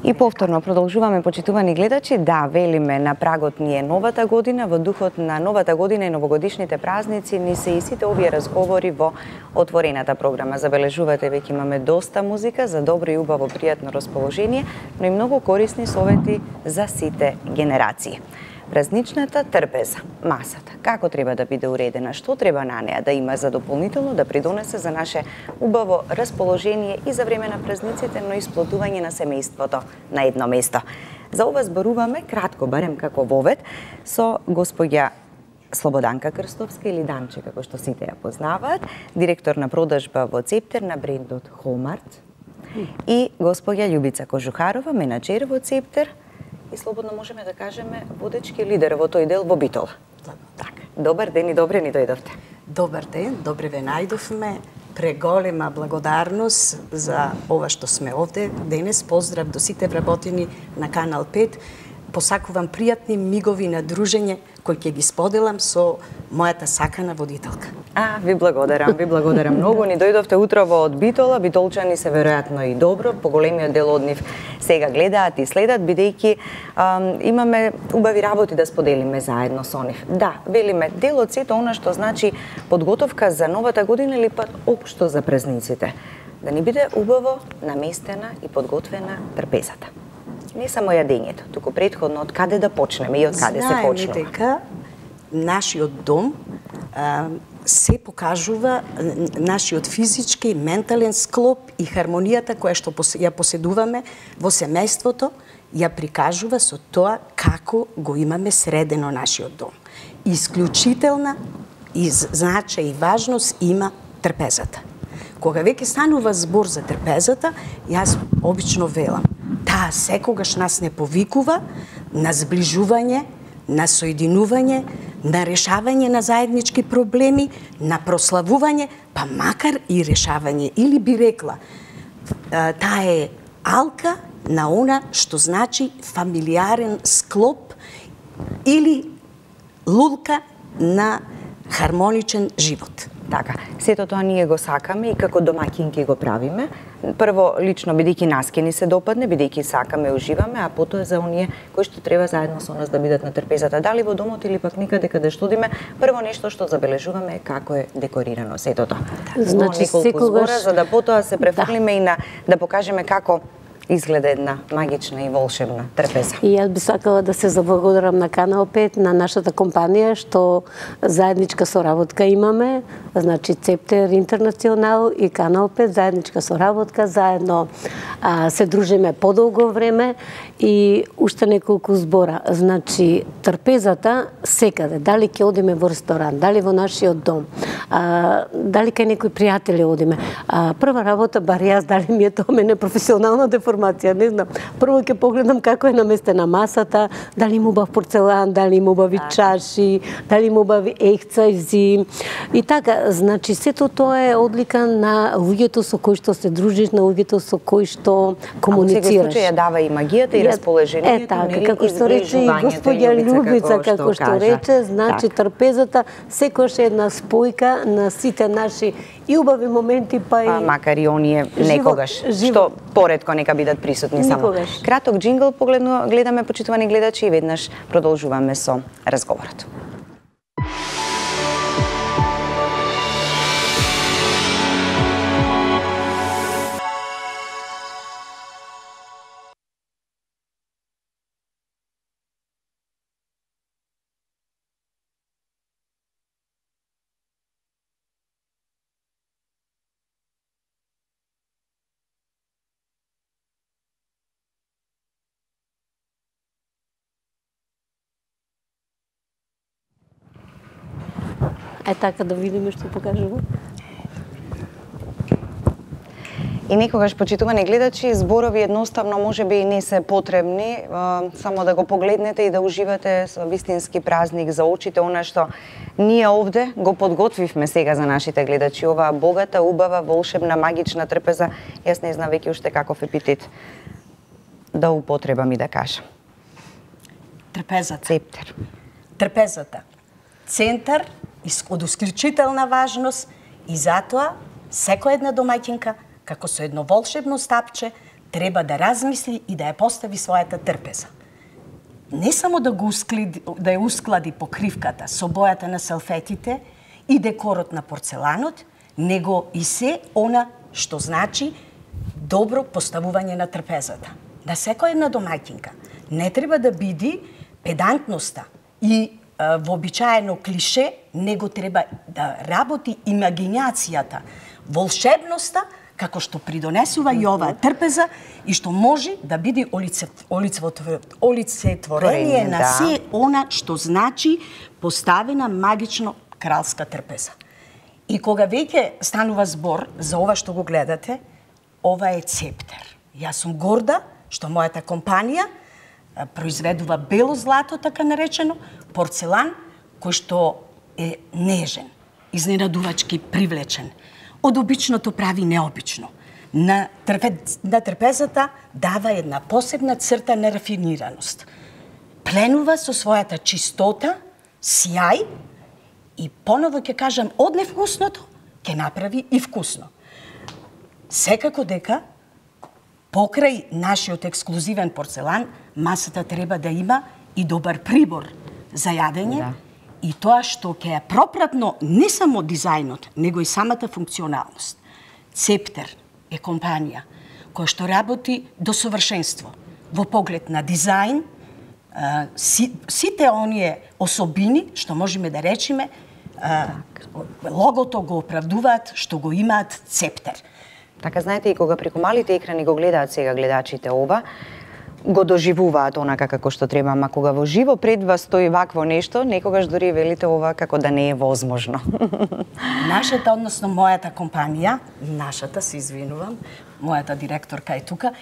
И повторно продолжуваме, почитувани гледачи, да, велиме на прагот ни е новата година, во духот на новата година и новогодишните празници ни се и сите овие разговори во отворената програма. Забележувате, веќе имаме доста музика за добро и убаво пријатно расположение, но и многу корисни совети за сите генерации. Празничната трпеза, масата, како треба да биде уредена, што треба на неа да има за дополнително да придонесе за наше убаво расположение и за време на празниците, но и сплотување на семејството на едно место. За ова зборуваме кратко, барем како вовед, со госпоѓа Слободанка Крстовска или Данче, како што сите ја познаваат, директор на продажба во Цептер на брендот Холмарт, и госпоѓа Љубица Кожухарова, менаџер во Цептер, и слободно можеме да кажеме водечки лидер во тој дел во Битола. Така. Добар ден и добре ни дојдовте. Добар ден, добре ве најдовме. Преголема благодарност за ова што сме овде денес. Поздрав до сите вработени на Канал 5. Посакувам пријатни мигови на дружење кои ќе ги споделам со мојата сакана водителка. Ви благодарам многу. Ни дојдовте утрово од Битола, битолчани се веројатно и добро, поголемиот дел од нив сега гледаат и следат, бидејќи имаме убави работи да споделиме заедно со нив. Да, велиме, дел од сето она што значи подготовка за новата година или пат општо за празниците. Да ни биде убаво наместена и подготвена трпезата. Не само јадењето, туку претходно од каде да почнеме и од каде се почнува. Знаеме дека нашиот дом се покажува, нашиот физички, ментален склоп и хармонијата која што ја поседуваме во семејството, ја прикажува со тоа како го имаме средено нашиот дом. Исклучителна и значај и важност има трпезата. Кога веќе станува збор за трпезата, јас обично велам, таа секогаш нас не повикува на зближување, на соединување, на решавање на заеднички проблеми, на прославување, па макар и решавање. Или би рекла, таа е алка на она што значи фамилиарен склоп или лулка на хармоничен живот. Така, сето тоа ние го сакаме и како домаќинки го правиме. Прво, лично, бидејќи нас ке ни се допадне, бидејќи сакаме, уживаме, а потоа за оние кои што треба заедно со нас да бидат на трпезата. Дали во домот или пак никаде каде што одиме, прво нешто што забележуваме е како е декорирано сето тоа. Значи, секогаш за да потоа се префрлиме и на да покажеме како изгледа една магична и волшебна трпеза. И јас би сакала да се заблагодарам на Канал 5, на нашата компанија, што заедничка соработка имаме, значи Цептер Интернационал и Канал 5, заедничка соработка, заедно се дружиме подолго време и уште неколку збора. Значи, трпезата секаде, дали ќе одиме во ресторан, дали во нашиот дом, дали кај некои пријатели одиме. Прва работа, бар јас, дали ми е тоа мене професионална деформација, не знам. Прво ќе погледам како е наместена масата, дали има убав порцелан, дали има убави чаши, дали има убави ехцајзи. И така, значи, сето тоа е одлика на луѓето со кои што се дружиш, на луѓето со кои што комуницираш. А во секој случај ја дава и магијата и расположението, така, како што рече и господја Љубица, како што рече, значи трпезата секојаш е една спојка на сите наши и убави моменти, па и макар и оние некогаш што поретко нека бидат присутни само. Краток џингл гледаме, почитувани гледачи, и веднаш продолжуваме со разговорот. Така да видиме што покажува. И некогаш, почитувани гледачи, зборови едноставно можеби и не се потребни, само да го погледнете и да уживате со вистински празник за очите, она што ние овде го подготвивме сега за нашите гледачи, оваа богата, убава, волшебна, магична трпеза. Јас не знам веќе уште каков епитет да употребам и да кажам. Трпезата. Цептер. Трпезата. Центар од исклучителна важност и затоа секоја една домаќинка, како со едно волшебно стапче, треба да размисли и да ја постави својата трпеза. Не само да ја усклади покривката со бојата на салфетите и декорот на порцеланот, него и се она што значи добро поставување на трпезата. На секоја една домаќинка не треба да биде педантноста и вообичаено клише, него треба да работи имагинацијата, волшебноста, како што придонесува и оваа трпеза и што може да биде олицетворение на се она што значи поставена магично кралска трпеза. И кога веќе станува збор за ова што го гледате, ова е цептер. Јас сум горда што мојата компанија произведува бело злато, така наречено, порцелан, кој што е нежен, изненадувачки привлечен. Од обичното прави необично. На трпезата дава една посебна црта на рафинираност. Пленува со својата чистота, сјај и поново ќе кажам, од невкусното ќе направи и вкусно. Секако дека покрај нашиот ексклузивен порцелан, масата треба да има и добар прибор за јадење, и тоа што ќе е пропратно не само дизајнот, него и самата функционалност. Цептер е компанија која што работи до совршенство во поглед на дизајн, сите оние особини што можеме да речеме, логото го оправдуваат што го имаат цептер. Така, знаете, и кога преку малите екрани го гледаат сега гледачите ова, го доживуваат онака како што треба, ама кога во живо пред вас стои вакво нешто, некогаш дури велите ова како да не е возможно. Нашата, односно мојата компанија, нашата, се извинувам, мојата директорка е тука,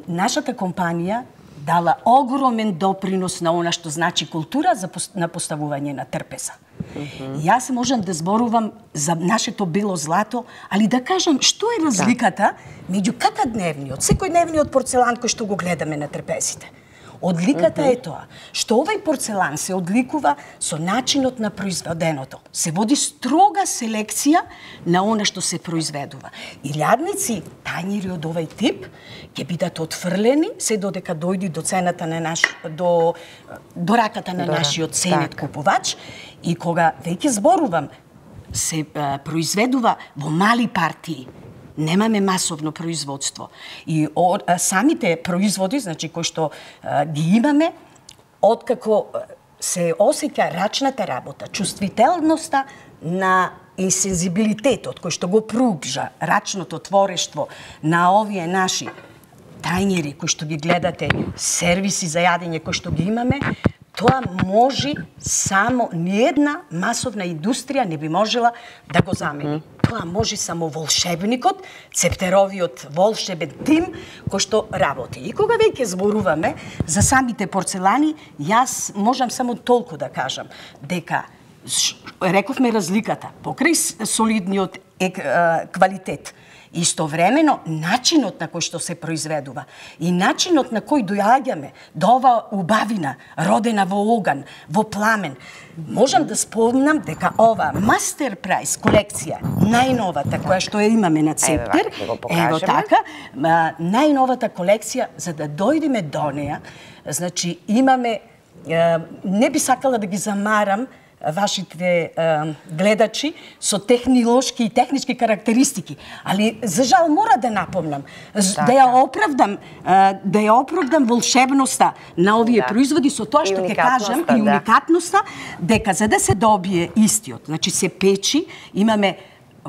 нашата компанија дала огромен допринос на она што значи култура на поставување на трпеза. Јас можам да зборувам за нашето бело злато, али да кажам што е разликата меѓу дневниот, секојдневниот порцелан кој што го гледаме на трпезите. Одликата е тоа, што овај порцелан се одликува со начинот на произведеното. Се води строга селекција на она што се произведува. И лјадници, тањери од овај тип, ќе бидат отфрлени се додека дојди до цената на до раката на нашиот ценет купувач. И кога веќе зборувам, се произведува во мали партии. Немаме масовно производство. И самите производи, значи кои што ги имаме, откако се осеќа рачната работа, чувствителноста и сензибилитетот кој што го пругжа рачното творештво на овие наши тањери кои што ги гледате, сервиси за јадење кои што ги имаме, тоа може само ниедна масовна индустрија не би можела да го замени. Тоа може само волшебникот, цептеровиот волшебен тим кој што работи. И кога веќе зборуваме за самите порцелани, јас можам само толку да кажам дека рековме разликата покрај солидниот квалитет. Истовремено, начинот на кој што се произведува и начинот на кој доаѓаме до ова убавина, родена во оган, во пламен. Можам да спомнам дека ова Мастер Прайс колекција, најновата која што ја имаме на Цептер, ево така, најновата колекција, за да дојдеме до неја, значи имаме, не би сакала да ги замарам вашите гледачи со технолошки и технички карактеристики, али за жал мора да напомнам, да ја оправдам волшебноста на овие производи со тоа што ќе кажам и уникатноста, дека за да се добие истиот, значи се печи, имаме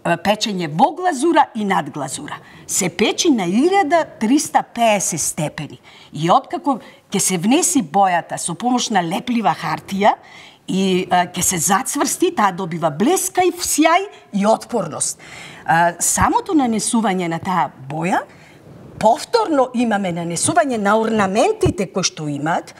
печење во глазура и над глазура. Се печи на 1350 степени. И откако ќе се внеси бојата со помош на леплива хартија, и ќе се зацврсти, таа добива блескај, сјај и отпорност. Самото нанесување на таа боја, повторно имаме нанесување на орнаментите кои што имаат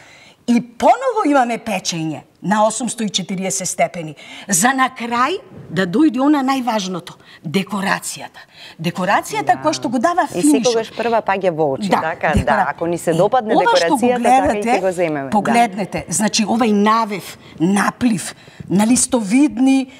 и поново имаме печење на 840 степени. За на крај да дојде она најважното, декорацијата. Декорацијата која што го дава финишот. И секогаш прва паѓа во очи, така? Да, ако ни се допадне декорацијата, така и ќе го земеме. Погледнете, значи овај навев, наплив на листовидни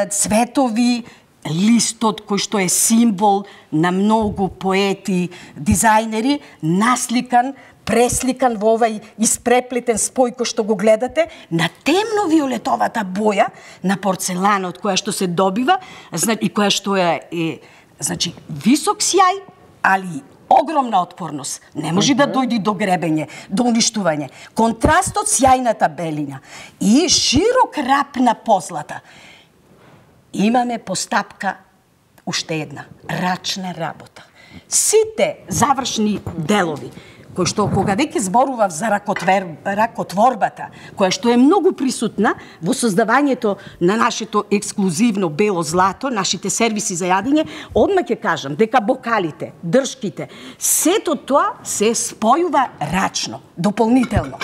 цветови листот кој што е символ на многу поети, дизајнери, насликан, пресликан во овај испреплетен спој кој што го гледате, на темно-виолетовата боја на порцеланот која што се добива, и која што е значи висок сјај, али огромна отпорност. Не може да дојде до гребење, до уништување. Контрастот сјајната белина и широк рап на позлата. Имаме постапка уште една, рачна работа. Сите завршни делови, кој што кога веќе зборував за ракотворбата, која што е многу присутна во создавањето на нашето ексклузивно бело злато, нашите сервиси за јадење, одма ќе кажам дека бокалите, дршките, сето тоа се спојува рачно, дополнително.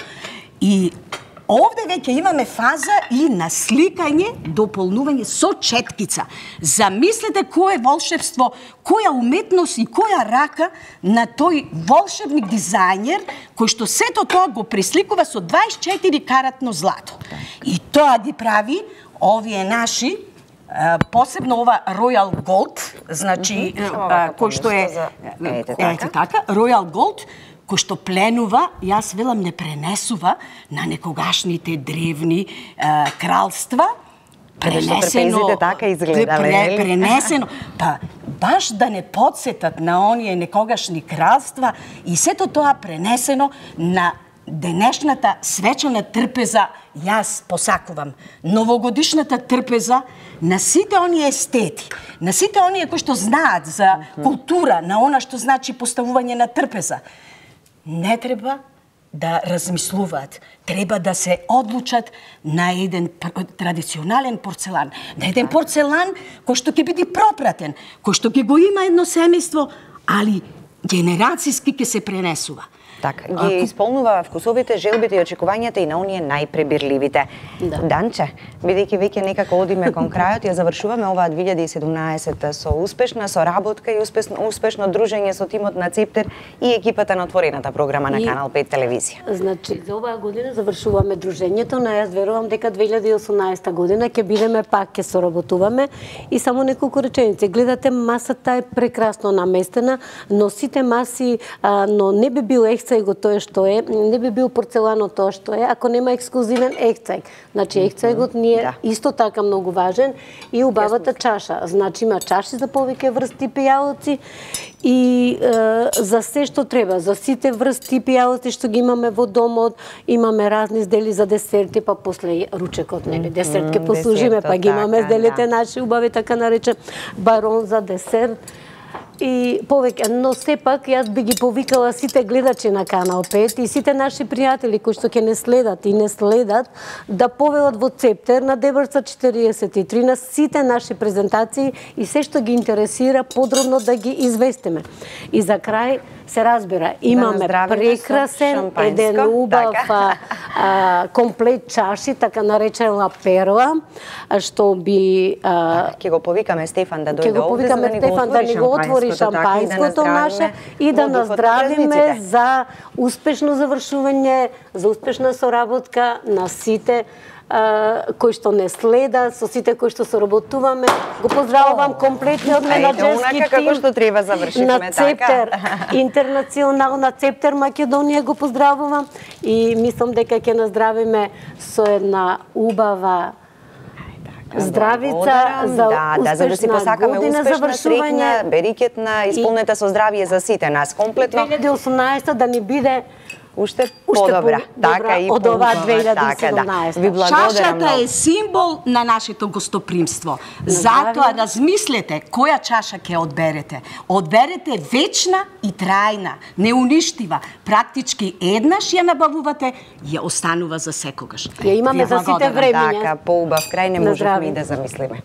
И овде веќе имаме фаза и на сликање, дополнување со четкица. Замислете кое волшебство, која уметност и која рака на тој волшебник дизајнер кој што сето тоа го пресликува со 24 каратно злато. И тоа ги прави овие наши, посебно ова Royal Gold, значи кој што е така, Royal Gold, кој што пленува, јас велам не пренесува на некогашните древни кралства, пренесено, така изгледале, пренесено, па баш да не подсетат на оние некогашни кралства и сето тоа пренесено на денешната свечена трпеза. Јас посакувам новогодишната трпеза на сите оние естети, на сите оние кои што знаат за култура, на она што значи поставување на трпеза. Не треба да размислуваат, треба да се одлучат на еден традиционален порцелан, на еден порцелан кој што ќе биде пропратен, кој што ќе го има едно семејство, али генерацијски ќе се пренесува. Така, ги исполнува вкусовите, желбите и очекувањата и на оние најпребирливите. Данче, бидејќи веќе некако одиме кон крајот, ја завршуваме оваа 2017 со успешна соработка и успешно дружење со тимот на Цептер и екипата на отворената програма на Канал 5 телевизија. Значи, за оваа година завршуваме дружењето, но јас верувам дека 2018 година ќе бидеме пак, ќе соработуваме и само неколку реченици. Гледате, масата е прекрасно наместена, но сите маси, но не би бил ехцајго тоа што е, не би бил порцеланот тоа што е, ако нема ексклузивен ехцајг. Значи, ехцајгот ни е исто така многу важен и убавата чаша. Значи, има чаши за повеќе врсти пијалци и за се што треба, за сите врсти пијалци што ги имаме во домот, имаме разни издели за десерти, па после ручекот, нели, десерт ке послужиме, па ги имаме изделите наши убави, така наречен барон за десерт. И повеќе, но сепак јас би ги повикала сите гледачи на Канал 5 и сите наши пријатели кои што ќе не следат и не следат да повелат во Цептер на Дебърца 43 на сите наши презентации и се што ги интересира подробно да ги известиме. И за крај се разбира, имаме прекрасен, еден убав комплет чаши, така наречена перла, што би... Ќе го повикаме Стефан да дојде овде, да ни го отвори шампајското наше и да наздравиме за успешно завршување, за успешна соработка на сите кои што не следат, со сите кои што соработуваме. Го поздравувам комплетниот менаџерски тим на Цептер Интернационал, на Цептер Македонија го поздравувам и мислам дека ќе наздравиме со една убава здравица за за да си посакаме успешна, среќна, берикетна, исполнета со здравје за сите нас комплетно. 2018 да ни биде уште подобра, така и од оваа 2017. Ви благодарам. Чашата е символ на нашето гостопримство. Затоа размислете која чаша ќе одберете. Одберете вечна и трајна, неуништива. Практички еднаш ја набавувате, ја останува за секогаш. Ја имаме за сите времиња. Така, поубав крај не можеме и да замислиме.